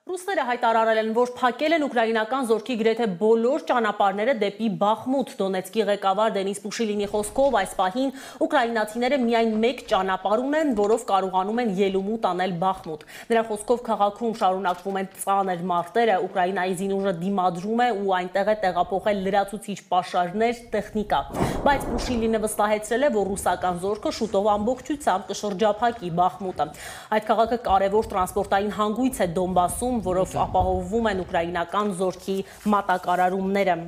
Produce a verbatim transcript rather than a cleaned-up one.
Ռուսները հայտարարել են, որ փակել են ուկրաինական զորքի գրեթե բոլոր ճանապարհները դեպի Բախմուտ։ Դոնեցկի ղեկավար Դենիս Պուշիլինի խոսքով այս պահին ուկրաինացիները միայն մեկ ճանապարհ ունեն, որով կարողանում են ելումուտ անել Բախմուտ։ Նրա խոսքով քաղաքում շարունակվում են ծանր մարտերը, Ուկրաինայի զինուժը դիմադրում է ու այնտեղ է տեղափոխել լրացուցիչ պաշարներ, տեխնիկա։ Բայց Պուշիլինը վստահեցրել է, որ ռուսական զորքը շուտով ամբողջությամբ կշրջափակի Բախմուտը։ Այդ քաղաքը կարևոր տրանսպորտային հանգույց է Դոնբասում, որով ապահովում են ուկրաինական զորքի մատակարարումները։